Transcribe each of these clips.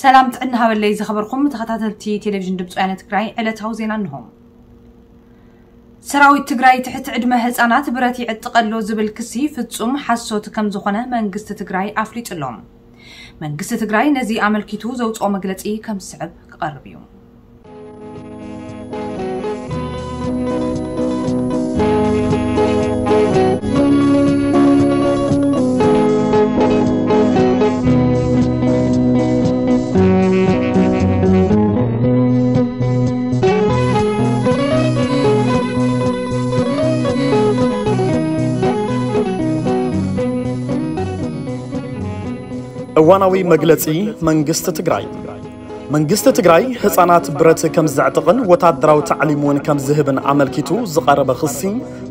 ሰላም ጥዕና ሃበለይ ዝኸበርኩም ተኸታተልቲ ቴሌቪዥን ድምፂ ወያነ ትግራይ፣ ዕለታዊ ዜና እንሆ። ሰራዊት ትግራይ ትሕቲ ዕድመ ህፃናት ብረት ይዕጥቐሎ ዝብል ክሲ ፍጹም ሓሶት ከም ዝኾነ መንግስቲ ትግራይ ኣፍሊጡ ኣሎ። መንግስቲ ትግራይ ነዚ ኣመልኪቱ ዘውፅኦ መግለፂ ከም ዝስዕብ ክቐርብ እዩ። እዋናዊ መግለጺ መንግስቲ ትግራይ። መንግስቲ ትግራይ ህፃናት ብረት ከም ዘዕጥቕን ወታደራዊ ታዕሊም እውን ከም ዝህብን ኣመልኪቱ ዝቐረበ ክሲ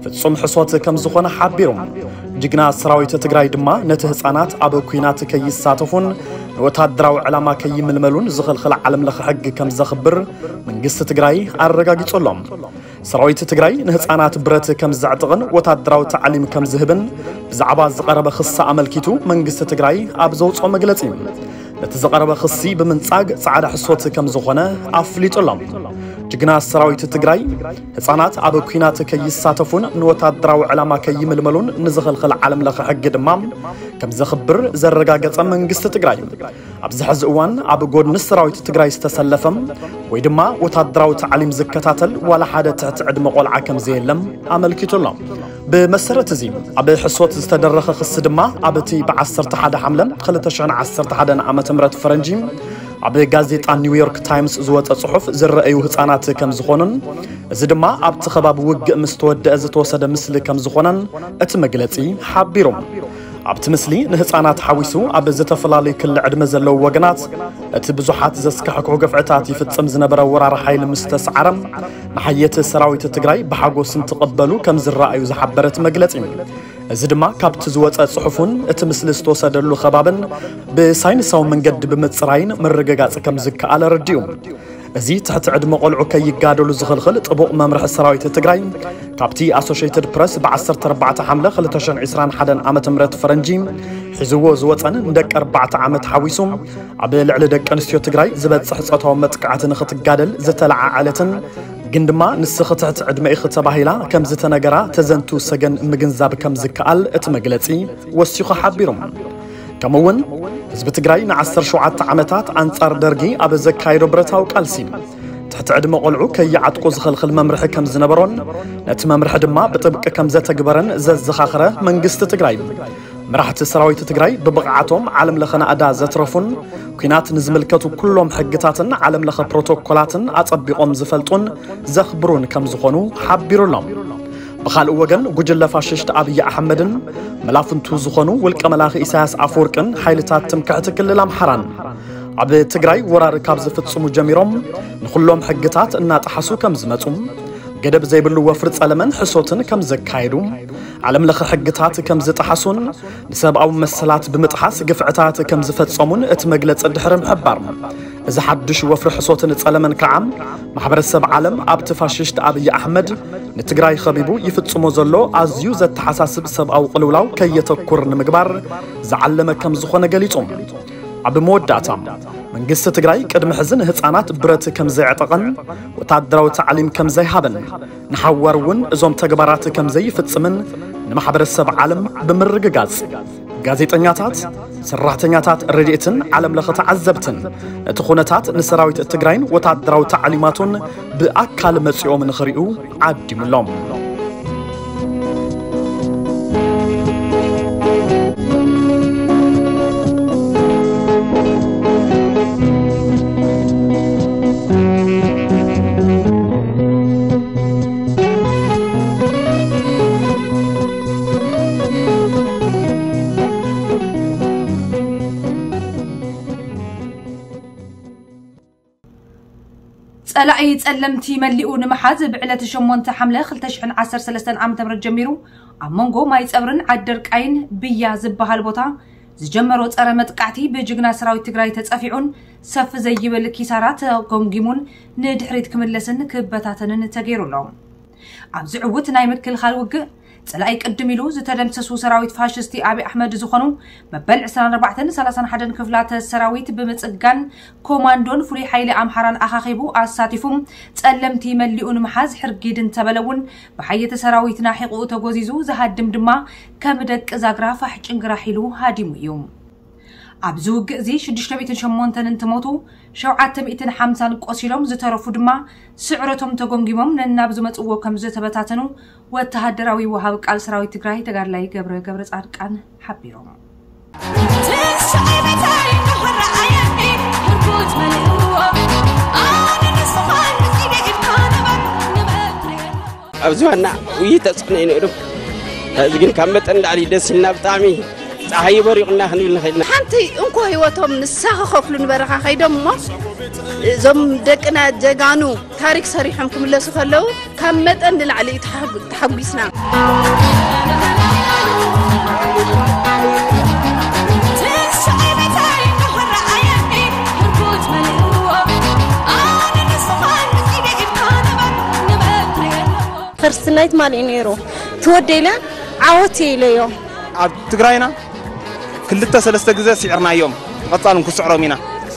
ፍጹም ሕሶት ከም ዝኾነ ሓቢሩ። ጅግና ሰራዊት ትግራይ ድማ ነቲ ህፃናት ኣብ ኲናት ከይሳተፉን ንወታደራዊ ዕላማ ከይምልመሉን ዝኽልኽል ዓለም ለኸ ሕጊ ከም ዘኽብር መንግስቲ ትግራይ ኣረጋጊጹ ኣሎ። ሰራዊት ትግራይ ንህፃናት ብረት ከም ዘዕጥቕን ወታደራዊ ታዕሊም ከም ዝህብን ብዛዕባ ዝቐረበ ክሲ ኣመልኪቱ መንግስቲ ትግራይ ኣብ ዘውፅኦ መግለፂ፣ ነቲ ዝቐረበ ክሲ ብምንጻግ ጻዕዳ ሕሶት ከም ዝኾነ ኣፍሊጡ ኣሎ። ጅግና ሰራዊት ትግራይ ህፃናት ኣብ ኲናት ከይሳተፉን ንወታደራዊ ዕላማ ከይምልመሉን ንዝኽልኽል ዓለም ለኸ ሕጊ ድማ ከም ዘኽብር ዘረጋገጸ መንግስቲ ትግራይ፣ ኣብዚ ሕዚ እዋን ኣብ ጎድኒ ሰራዊት ትግራይ ዝተሰለፈም ወይ ድማ ወታደራዊ ታዕሊም ዝከታተል ዋላ ሓደ ትሕቲ ዕድመ ቆልዓ ከም ዘየለም ኣመልኪቱ ኣሎ። ብመሰረት እዚ ኣብ ሕሶት ዝተደረኸ ክሲ ድማ ኣብቲ ብ ዓሰርተ ሓደ ሓምለ ክልተ ሽሕን ዓሰርተ ሓደን ዓመተ ምህረት ፈረንጂ ኣብ ጋዜጣ ኒውዮርክ ታይምስ ዝወፀ ጽሑፍ ዝረኣዩ ህፃናት ከም ዝኾኑን እዚ ድማ ኣብቲ ከባቢ ውግእ ምስ ተወደአ ዝተወሰደ ምስሊ ከም ዝኾነን እቲ መግለጺ ሓቢሩ። ኣብቲ ምስሊ ንህፃናት ሓዊሱ ኣብ ዝተፈላለዩ ክሊ ዕድመ ዘለዉ ወገናት እቲ ብዙሓት ዘስካሕክሑ ግፍዕታት ይፍጽም ዝነበረ ወራር ሓይሊ ምስ ተሰዓረ ንሓየት ሰራዊት ትግራይ ብሓጎስ እንትቕበሉ ከም ዝረኣዩ ዝሓበረ እቲ መግለጺ፣ እዚ ድማ ካብቲ ዝወፀ ጽሑፍን እቲ ምስሊ ዝተወሰደሉ ከባብን ብሳይንሳዊ መንገዲ ብምፅራይን ምርግጋፅ ከም ዝከኣል ኣረዲኡ። እዚ ትሕቲ ዕድመ ቆልዑ ከይጋደሉ ዝኽልኽል ጥቡቕ መምርሒ ሰራዊት ትግራይ ካብቲ ኣሶሽየትድ ፕረስ ብ ዓሰርተ ኣርባዕተ ሓምለ ክልተ ሽሕን ዕስራን ሓደን ዓመተ ምህረት ፈረንጂ ሒዝዎ ዝወፀን ንደቂ ኣርባዕተ ዓመት ሓዊሱ ኣብ ልዕሊ ደቂ ኣንስትዮ ትግራይ ዝበፅሕ ፆታዊ መጥቃዕቲ ንኽትጋደል ዝተለዓዓለትን ግን ድማ ንስኺ ትሕቲ ዕድመ ኢኺ ተባሂላ ከም ዝተነገራ ተዘንቱ ሰገን ምግንዛብ ከም ዝከኣል እቲ መግለፂ ወሲኹ ሓቢሩ። ከምኡ እውን ህዝቢ ትግራይ ን ዓሰርተ ሸውዓተ ዓመታት ኣንጻር ደርጊ ኣብ ዘካየዶ ብረታዊ ቃልሲ ትሕቲ ዕድመ ቆልዑ ከይዓጥቁ ዝኽልኽል መምርሒ ከም ዝነበሮን ነቲ መምርሒ ድማ ብጥብቂ ከም ዘተግበረን ዘዘኻኽረ መንግስቲ ትግራይ፣ መራሕቲ ሰራዊት ትግራይ ብብቕዓቶም ዓለም ለኸ ናእዳ ዘትረፉን ኲናት ንዝምልከቱ ኩሎም ሕግታትን ዓለም ለኸ ፕሮቶኮላትን ኣጸቢቖም ዝፈልጡን ዘኽብሩን ከም ዝኾኑ ሓቢሩ ኣሎ። ብኻልእ ወገን ጉጅለ ፋሽስት ኣብይ ኣሕመድን መላፍንቱ ዝኾኑ ውልቀ መላኺ ኢሳያስ ኣፈወርቅን ሓይልታት ትምክሕቲ ክልል ኣምሓራን ኣብ ትግራይ ወራር ካብ ዝፍጽሙ ጀሚሮም ንኹሎም ሕግታት እናጠሓሱ ከም ዝመጹ፣ ገደብ ዘይብሉ ወፍሪ ጸለመን ሕሶትን ከም ዘካየዱ፣ ዓለም ለኸ ሕግታት ከም ዝጠሓሱን ንሰብኣዊ መሰላት ብምጥሓስ ግፍዕታት ከም ዝፈጸሙን እቲ መግለጺ ድሕሪ ምሕባር፣ እዚ ሓድሽ ወፍሪ ሕሶትን ጸለመን ከዓ ማሕበረሰብ ዓለም ኣብቲ ፋሽስት ኣብይ ኣሕመድ ንትግራይ ኸቢቡ ይፍጽሞ ዘሎ ኣዝዩ ዘተሓሳስብ ሰብኣዊ ቅልውላው ከየተኩር ንምግባር ዝዓለመ ከም ዝኾነ ገሊጹ። ኣብ መወዳእታ መንግስቲ ትግራይ ቅድሚ ሕዚ ንህፃናት ብረት ከም ዘዕጠቐን ወታደራዊ ታዕሊም ከም ዘይሃበን ንሓዋር እውን እዞም ተግባራት ከም ዘይፍጽምን ንማሕበረሰብ ዓለም ብምርግጋጽ ጋዜጠኛታት፣ ሰራሕተኛታት ረድኤትን ዓለም ለኸ ተዓዘብትን እቲ ኩነታት ንሰራዊት ትግራይን ወታደራዊ ታዕሊማቱን ብኣካል መጺኦም ንኽሪኡ ዓዲሙሎም። ጸላኢ ጸለምቲ መሊኡ ንምሓዝ ብዕለት ሸሞንተ ሓምለ ክልተ ሽሕን ዓሰርተ ሰለስተን ዓመተ ምህረት ጀሚሩ ኣብ መንጎ ማይ ጸብርን ዓዲ ደርቃይን ብያ ዝበሃል ቦታ ዝጀመሮ ጸረ መጥቃዕቲ ብጅግና ሰራዊት ትግራይ ተጸፊዑን ሰፍ ዘይብል ኪሳራ ተገምጊሙን ንድሕሪት ክምለስን ክበታተንን ተገይሩ ኣሎ። ኣብዚ ዕዉት ናይ ምክልኻል ውግእ ጸላኢ ቅድም ኢሉ ዝተደምሰሱ ሰራዊት ፋሽስቲ ኣብይ ኣሕመድ ዝኾኑ መበል ዕስራን ኣርባዕተን ሰላሳን ሓደን ክፍላተ ሰራዊት ብምጽጋን ኮማንዶን ፍሉይ ሓይሊ ኣምሓራን ኣኻኺቡ ኣሳቲፉ ጸለምቲ መሊኡ ንምሓዝ ሕርጊድ እንተበለ እውን ብሓየተ ሰራዊትና ሒቑኡ ተጎዚዙ ዝሃድም ድማ ከም ደቂ ዛግራ ፋሕ ጭንግራሕ ኢሉ ሃዲሙ እዩ። ኣብዚ ውግእ እዚ ሽዱሽተ ሚእትን ሸሞንተን እንትሞቱ ሸውዓተ ሚእትን ሓምሳን ቆሲሎም ዝተረፉ ድማ ስዕረቶም ተጎንጊሞም ነናብ ዝመጽዎ ከም ዝተበታተኑ ወተሃደራዊ ወሃብ ቃል ሰራዊት ትግራይ ተጋድላይ ገብረ ገብረ ጻድቃን ሓቢሮም። ኣብዚ ዋና ውይ ተፅዕኖ እዩ ነይሩ። እዚ ግን ካብ መጠን ላዕሊ ደስ ኢልና ብጣዕሚ ፀሓይ በሪቑና ክንብል ንኽእል ኢና። ሓንቲ እንኮ ህይወቶም ንሳ ክኸፍሉ ንበረኻ ከይዶም እሞ እዞም ደቅና ጀጋኑ ታሪክ ሰሪሖም ክምለሱ ከለዉ ካብ መጠን ንላዕሊ እዩ ተሓጉ- ተሓጒስና። ፈርስት ናይት ማን እዩ ነይሩ ትወደይለ ዓወት ኢለዮ። ኣብ ትግራይና ክልተ ሰለስተ ግዜ ስዒርናዮም፣ ብቐጻል እውን ክስዕሮም ኢና።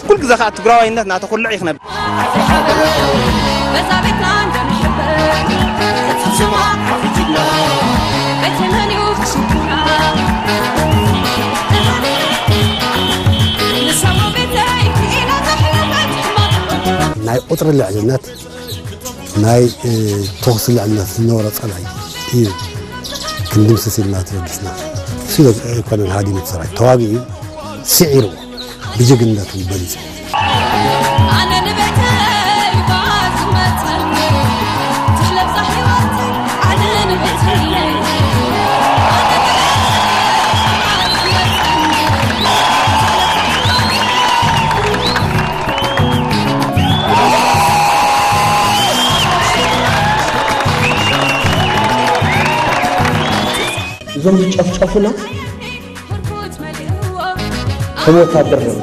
ኩሉ ግዜ ከዓ ትግራዋይነት እናተኹልዕ እዩ ክነብር። ናይ ቁፅሪ ልዕልነት ናይ ተኹሲ ልዕልነት ዝነበሮ ፀላኢ እዩ ክንድምስስ ኢልና ተበጊስና። እሱ ኣይኮነን ሃዲሙ እቲ ሰራዊት ተዋጊኡ እዩ ስዒርዎ ብጀግንነቱ በሊፁ። እዞም ዝጨፍጨፉና ከም ወታደር ነው።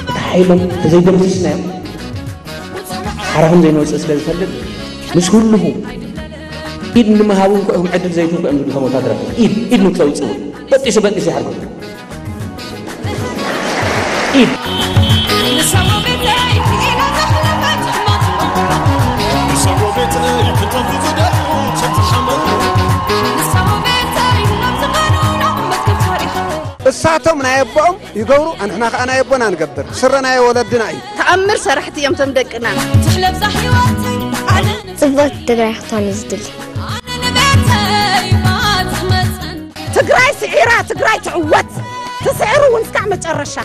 እቲ ሓይሎም ተዘይደምስስናዮም ሓራኹም ዘይንወፅእ ስለ ዝፈልጥ ምስ ህልኹ ኢድ ንምሃቡ እንኳ ኢኹም ዕድል ዘይትህቡ እዮም ዝብሉ ከም ወታደራት ኢድ ኢድ ንክተውፅኡ በጢሱ በጢሱ ይሓርጎም። እሳቶም ናይ ኣቦኦም ይገብሩ ኣንሕና ከዓ ናይ ኣቦና ንገብር ስረ ናይ ወለድና እዩ። ተኣምር ሰራሕቲ እዮም ቶም ደቅና። ጽብቕቲ ትግራይ ክትኮን እዩ ዝድሊ። ትግራይ ስዒራ ትግራይ ትዕወት። ትስዕሩ እውን እስካዕ መጨረሻ።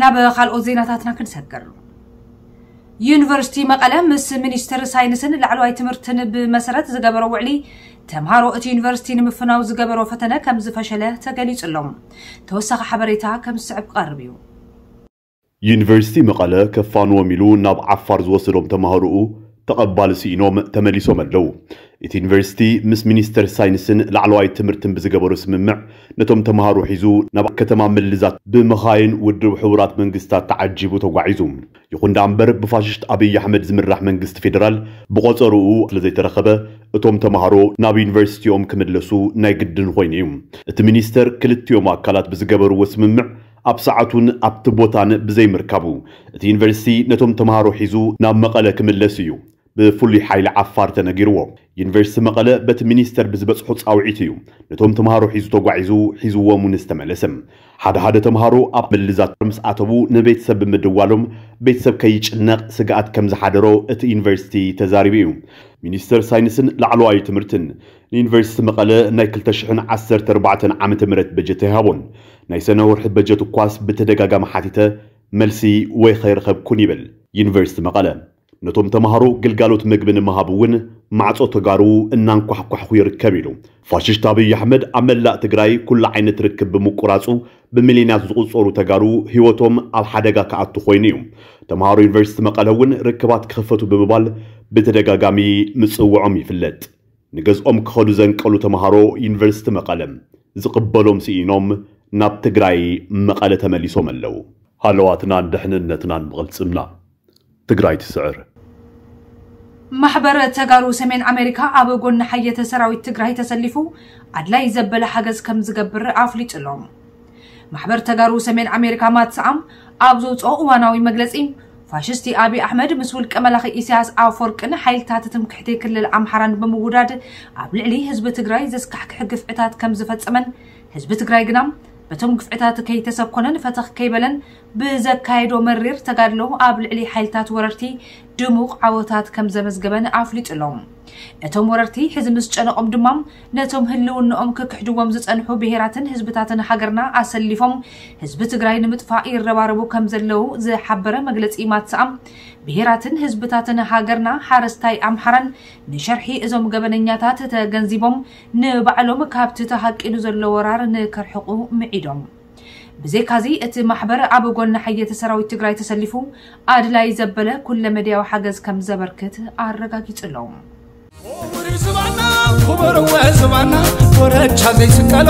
ናብ ካልኦት ዜናታትና ክንሰግር። ዩኒቨርሲቲ መቐለ ምስ ሚኒስትር ሳይንስን ላዕለዋይ ትምህርትን ብመሰረት ዝገበሮ ውዕሊ ተምሃሮ እቲ ዩኒቨርሲቲ ንምፍናው ዝገበሮ ፈተነ ከም ዝፈሸለ ተገሊጹ ኣሎ። ተወሳኺ ሓበሬታ ከም ዝስዕብ ክቐርብ እዩ። ዩኒቨርሲቲ መቐለ ከፋንዎም ኢሉ ናብ ዓፋር ዝወሰዶም ተማሃሮኡ ተቐባሊ ስኢኖም ተመሊሶም ኣለዉ። እቲ ዩኒቨርሲቲ ምስ ሚኒስተር ሳይንስን ላዕለዋይ ትምህርትን ብዝገበሮ ስምምዕ ነቶም ተማሃሮ ሒዙ ናብ ከተማ ምልዛት ብመኻይን ውድብ ሕቡራት መንግስታት ተዓጂቡ ተጓዒዙ። ይኹን ደኣ እምበር ብፋሽስት ኣብይ ኣሕመድ ዝምራሕ መንግስቲ ፌደራል ብቖጸርኡ ስለዘይተረኸበ እቶም ተማሃሮ ናብ ዩኒቨርሲቲኦም ክምለሱ ናይ ግድን ኮይኑ እዩ። እቲ ሚኒስተር ክልቲኦም ኣካላት ብዝገበርዎ ስምምዕ ኣብ ሰዓቱን ኣብቲ ቦታን ብዘይምርካቡ እቲ ዩኒቨርሲቲ ነቶም ተማሃሮ ሒዙ ናብ መቐለ ክምለስ እዩ ብፍሉይ ሓይሊ ዓፋር ተነጊርዎ። ዩኒቨርሲቲ መቐለ በቲ ሚኒስተር ብዝበፅሖ ፃውዒት እዩ ነቶም ተምሃሮ ሒዙ ተጓዒዙ ሒዝዎም እውን ዝተመለሰ። ሓደ ሓደ ተምሃሮ ኣብ ምልዛት ምስ ኣተዉ ንቤተሰብ ብምድዋሎም ቤተሰብ ከይጭነቕ ስግኣት ከም ዝሓደሮ እቲ ዩኒቨርሲቲ ተዛሪቡ እዩ። ሚኒስተር ሳይንስን ላዕለዋይ ትምህርትን ንዩኒቨርሲቲ መቐለ ናይ ክልተ ሽሕን ዓሰርተ ኣርባዕተን ዓመተ ምህረት በጀት ኣይሃቦን። ናይ ሰነ ወርሒ በጀት እኳስ ብተደጋጋሚ ሓቲተ መልሲ ወይ ከይረኸብኩን ይብል ዩኒቨርሲቲ መቐለ። ነቶም ተምሃሮ ግልጋሎት ምግቢ ንምሃብ እውን ማዕጾ ተጋሩ እናንኳሕኳሕኩ ይርከብ ኢሉ። ፋሽስት ኣብይ ኣሕመድ ኣብ መላእ ትግራይ ኩሉ ዓይነት ርክብ ብምቁራጹ ብሚልዮናት ዝቑጸሩ ተጋሩ ህይወቶም ኣብ ሓደጋ ክኣቱ ኮይኑ እዩ። ተምሃሮ ዩኒቨርሲቲ መቐለ እውን ርክባት ክኽፈቱ ብምባል ብተደጋጋሚ ምጽውዖም ይፍለጥ። ንገዝኦም ክኸዱ ዘንቀሉ ተምሃሮ ዩኒቨርሲቲ መቐለ ዝቕበሎም ስኢኖም ናብ ትግራይ መቐለ ተመሊሶም ኣለዉ። ሃለዋትናን ድሕንነትናን ብቕልጽምና። ትግራይ ትስዕር። ማሕበር ተጋሩ ሰሜን ኣሜሪካ ኣብ ጎኒ ሓየተ ሰራዊት ትግራይ ተሰሊፉ ኣድላይ ዘበለ ሓገዝ ከም ዝገብር ኣፍሊጡ ኣሎ። ማሕበር ተጋሩ ሰሜን ኣሜሪካ ማትስኣም ኣብ ዘውፅኦ እዋናዊ መግለፂ፣ ፋሽስቲ ኣብይ ኣሕመድ ምስ ውልቀ መላኺ ኢሳያስ ኣፈወርቅን ሓይልታት ትምክሕቲ ክልል ኣምሓራን ብምውዳድ ኣብ ልዕሊ ህዝቢ ትግራይ ዘስካሕክሕ ግፍዕታት ከም ዝፈጸመን፣ ህዝቢ ትግራይ ግና በቶም ግፍዕታት ከይተሰኮነን ፈተኽ ከይበለን ብዘካየዶ መሪር ተጋድሎ ኣብ ልዕሊ ሓይልታት ወረርቲ ድሙቕ ዓወታት ከም ዘመዝገበን ኣፍሊጡ ኣሎ። እቶም ወረርቲ ሕዚ ምስ ጨነቖም ድማ ነቶም ህልውንኦም ክክሕድዎም ዝጸንሑ ብሄራትን ህዝብታትን ሃገርና ኣሰሊፎም ህዝቢ ትግራይ ንምጥፋእ ይረባረቡ ከም ዘለዉ ዝሓበረ መግለጺ ማትስኣም፣ ብሄራትን ህዝብታትን ሃገርና ሓረስታይ ኣምሓራን ንሸርሒ እዞም ገበነኛታት ተገንዚቦም ንባዕሎም ካብቲ ተሃቂኑ ዘሎ ወራር ንከርሕቑ ምዒዶም። ብዘይካዚ እቲ ማሕበር ኣብ ጎኒ ሓየተ ሰራዊት ትግራይ ተሰሊፉ ኣድላይ ዘበለ ኩለ መድያዊ ሓገዝ ከም ዘበርክት ኣረጋጊጹ ኣሎ። ክቡር ዝባና ክቡር ወ ዝባና ኮረቻ ዘይስቀሎ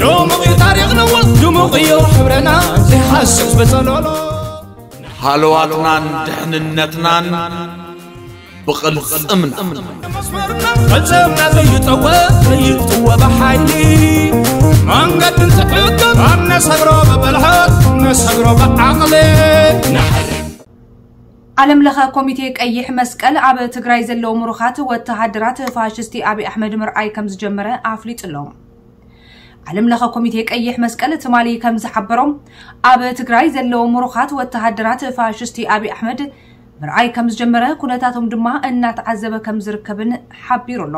ድሙቕ እዩ ታሪኽና ድሙቕ እዩ ሕብረና ዘይሓስስ ብጸሎሎ ሃለዋትናን ድሕንነትናን ብቕልጽምና። መስመርና ቅልጽምና ዘይጠወ ዘይጥወ ብሓይሊ መንገዲ እንትሕገም ኣብ ነሰግሮ ብብልሓት ነሰግሮ ብዓቕሊ ዓለም ለኸ ኮሚቴ ቀይሕ መስቀል ኣብ ትግራይ ዘለዉ ምሩኻት ወተሃደራት ፋሽስቲ ኣብይ ኣሕመድ ምርኣይ ከም ዝጀመረ ኣፍሊጡ ኣሎ። ዓለም ለኸ ኮሚቴ ቀይሕ መስቀል ትማሊ ከም ዝሓበሮም ኣብ ትግራይ ዘለዉ ምሩኻት ወተሃደራት ፋሽስቲ ኣብይ ኣሕመድ ምርኣይ ከም ዝጀመረ ኩነታቶም ድማ እናተዓዘበ ከም ዝርከብን ሓቢሩ ኣሎ።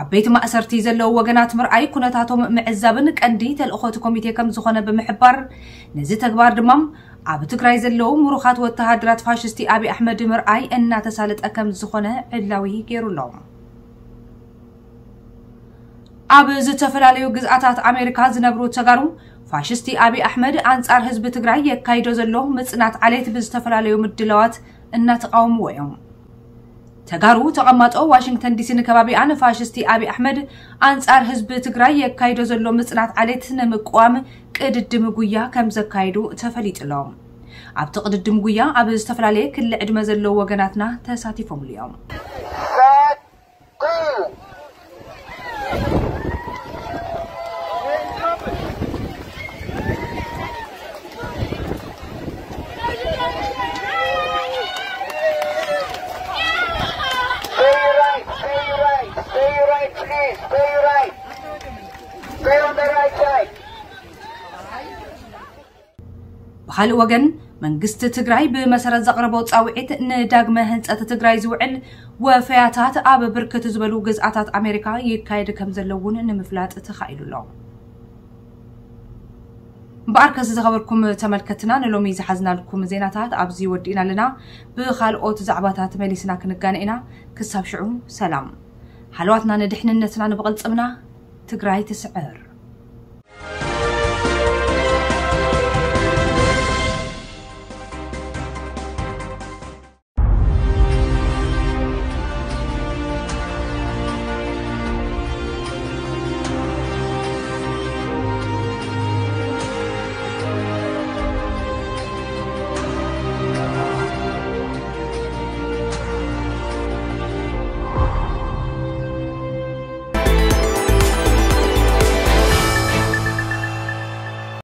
ኣብ ቤት ማእሰርቲ ዘለዉ ወገናት ምርኣይ ኩነታቶም ምዕዛብን ቀንዲ ተልእኾ እቲ ኮሚቴ ከም ዝኾነ ብምሕባር ነዚ ተግባር ድማ ኣብ ትግራይ ዘለዉ ምሩኻት ወተሃደራት ፋሽስቲ ኣብይ ኣሕመድ ምርኣይ እናተሳለጠ ከም ዝኾነ ዕላዊ ገይሩ ኣሎ። ኣብ ዝተፈላለዩ ግዝኣታት ኣሜሪካ ዝነብሩ ተጋሩ ፋሽስቲ ኣብይ ኣሕመድ ኣንጻር ህዝቢ ትግራይ የካይዶ ዘሎ ምጽናት ዓሌት ብዝተፈላለዩ ምድላዋት እናተቃወምዎ እዮም። ተጋሩ ተቐማጦ ዋሽንግተን ዲሲን ከባቢኣን ፋሽስቲ ኣብይ ኣሕመድ ኣንጻር ህዝቢ ትግራይ የካይዶ ዘሎ ምጽናት ዓሌት ንምቅዋም ቅድድም ጉያ ከም ዘካየዱ ተፈሊጡ ኣሎ። ኣብቲ ቅድድም ጉያ ኣብ ዝተፈላለየ ክሊ ዕድመ ዘለዉ ወገናትና ተሳቲፎምሉ እዮም። Stay right, stay right, stay right, please, stay right. Stay on the right side. ብኻልእ ወገን መንግስቲ ትግራይ ብመሰረት ዘቕረቦ ፃውዒት ንዳግመ ህንፀት ትግራይ ዝውዕል ወፈያታት ኣብ ብርክት ዝበሉ ግዝኣታት ኣሜሪካ ይካየድ ከም ዘሎ እውን ንምፍላጥ ተኻኢሉ ኣሎ። እምበኣርከስ ዝኸበርኩም ተመልከትና ንሎሚ ዝሓዝናልኩም ዜናታት ኣብዚ ወዲእና ኣለና። ብኻልኦት ዛዕባታት መሊስና ክንጋነ ኢና። ክሳብ ሽዑ ሰላም። ሃለዋትና ንድሕንነትና ንብቕልፅምና። ትግራይ ትስዕር።